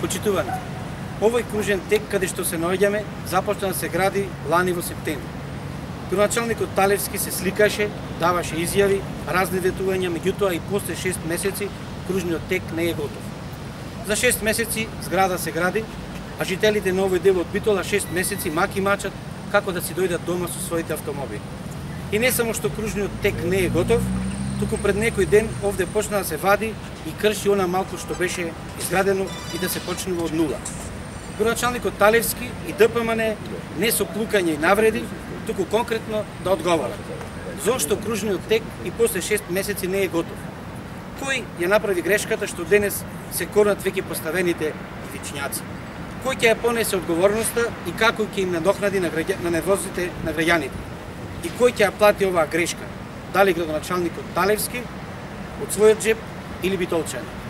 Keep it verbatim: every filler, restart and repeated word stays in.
Почитувани, овој кружен тек каде што се наоѓаме започна да се гради лани во септември. Градоначалникот Талевски се сликаше, даваше изјави, разни ветувања, меѓутоа и после шест месеци кружниот тек не е готов. За шест месеци зграда се гради, а жителите на овој дел од Битола шест месеци маки мачат како да си дојдат дома со своите автомобили. И не само што кружниот тек не е готов, туку пред некој ден овде почна да се вади и крши она малку што беше изградено и да се почнува од нула. Градоначалникот Талевски и ДПМН не со плукање и навреди, туку конкретно да одговорат. Зошто кружниот тек и после шест месеци не е готов? Кој ја направи грешката што денес се корнат веќе поставените вичњаци? Кој ќе ја понесе одговорноста и како ќе им надокнади на, граѓа... на невозите на граѓаните? И кој ќе ја плати оваа грешка? Дали градоначалникот Талевски од својот джеп или битолчани?